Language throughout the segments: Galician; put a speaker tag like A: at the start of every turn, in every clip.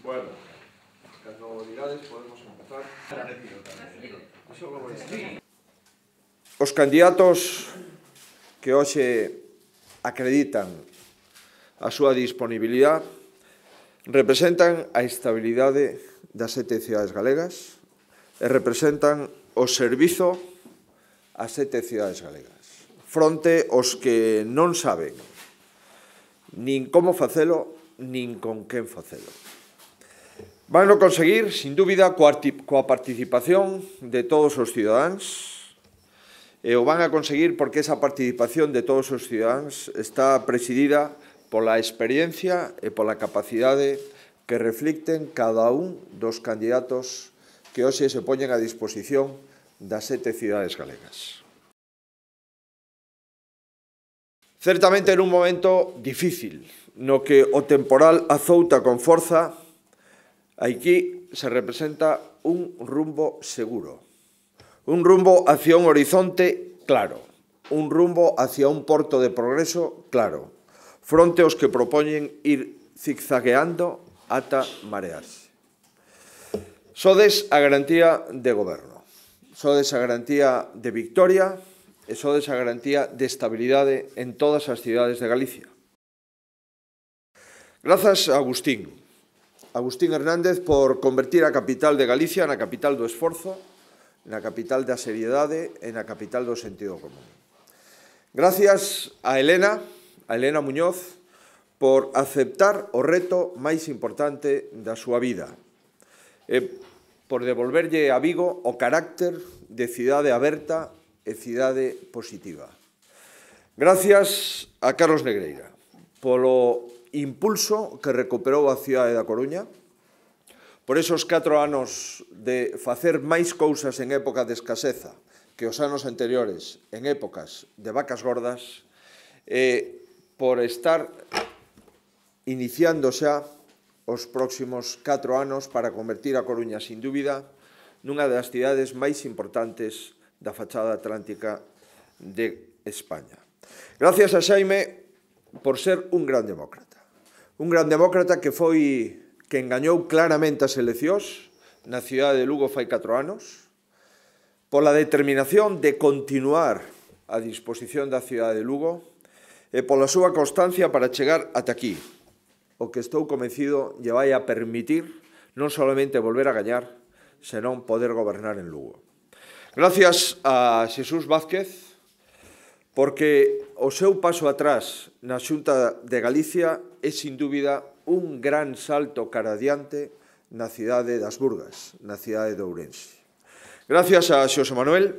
A: Bueno, cando digades podemos empezar. Os candidatos que hoxe acreditan a súa disponibilidade representan a estabilidade das 7 cidades galegas e representan o servizo ás 7 cidades galegas, fronte aos que non saben nin como facelo, nin con quen facelo. Vanlo conseguir, sin dúbida, coa participación de todos os cidadáns, e o van a conseguir porque esa participación de todos os cidadáns está presidida pola experiencia e pola capacidade que reflicten cada un dos candidatos que hoxe se poñen a disposición das 7 cidades galegas. Certamente en un momento difícil, no que o temporal azouta con forza, aquí se representa un rumbo seguro, un rumbo hacia un horizonte claro, un rumbo hacia un porto de progreso claro, fronte aos que propoñen ir zigzagueando ata marearse. Sodes a garantía de goberno, sodes a garantía de victoria e sodes a garantía de estabilidade en todas as cidades de Galicia. Grazas a Agustín Hernández por convertir a capital de Galicia na capital do esforzo, na capital da seriedade e na capital do sentido común. Gracias a Elena Muñoz por aceptar o reto máis importante da súa vida e por devolverlle a Vigo o carácter de cidade aberta e cidade positiva. Gracias a Carlos Negreira polo impulso que recuperou a cidade da Coruña, por esos 4 anos de facer máis cousas en época de escaseza que os anos anteriores en épocas de vacas gordas, e por estar iniciando xa os próximos 4 anos para convertir a Coruña, sin dúbida, nunha das cidades máis importantes da fachada atlántica de España. Gracias a Xaime por ser un gran demócrata que engañou claramente as eleccións na cidade de Lugo fai 4 anos, pola determinación de continuar a disposición da cidade de Lugo e pola súa constancia para chegar ata aquí, o que estou convencido lle vai a permitir non solamente volver a gañar, senón poder gobernar en Lugo. Gracias a Xesús Vázquez, porque o seu paso atrás na Xunta de Galicia é, sin dúbida, un gran salto cara adiante na cidade das Burgas, na cidade de Ourense. Gracias a Xosé Manuel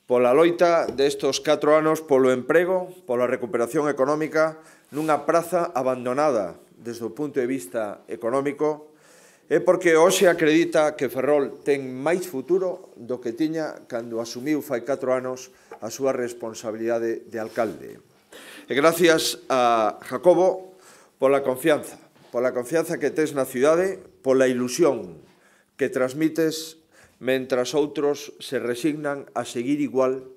A: pola loita destos 4 anos polo emprego, pola recuperación económica nunha praza abandonada desde o punto de vista económico, e porque hoxe acredita que Ferrol ten máis futuro do que tiña cando asumiu fai 4 anos a súa responsabilidade de alcalde. E gracias a Jacobo pola confianza que tes na cidade, pola ilusión que transmites mentras outros se resignan a seguir igual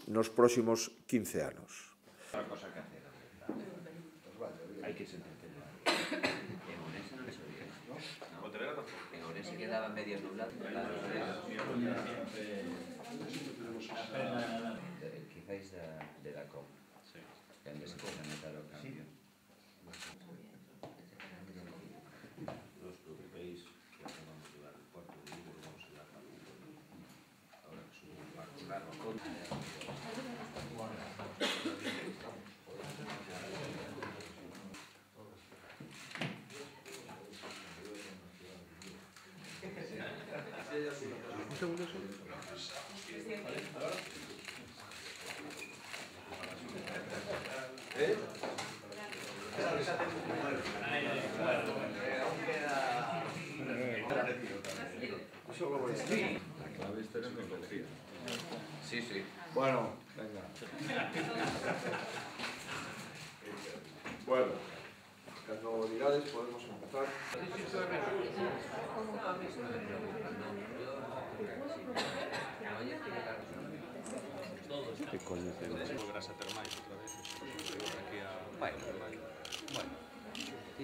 A: nos próximos 15 anos.
B: Otra cosa que hacer, hay que sentir. En Ourense non les oía, ¿no? En Ourense quedaban medios nublados. Quizáis de la COP, donde se puede notar o cambio. No os preocupéis, que vamos a llevar el cuarto de Vigo, vamos a llevar para ahora que subo un barco largo.
A: Un segundo solo.
B: Sí, sí.
A: Bueno, venga. Bueno, cando digades podemos empezar.
C: Que coño tenemos? Volverás a ter máis outra vez. Aquí a... Bueno.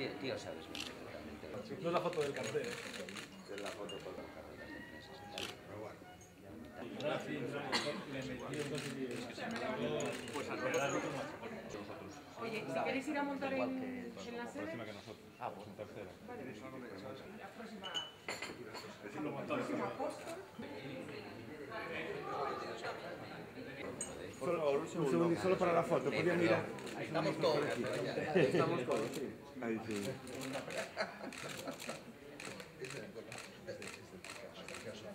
B: Tío, sabes perfectamente.
C: No es la foto del cartel.
B: Es la foto con la carrera de prensa. Pero bueno.
D: Oye, si queréis ir a montar en la sede...
C: Próxima que nosotros. Pues en tercera.
E: Un segundo, solo para la foto, podía mirar.
B: Estamos todos.
E: Estamos todos, sí. Ahí sí.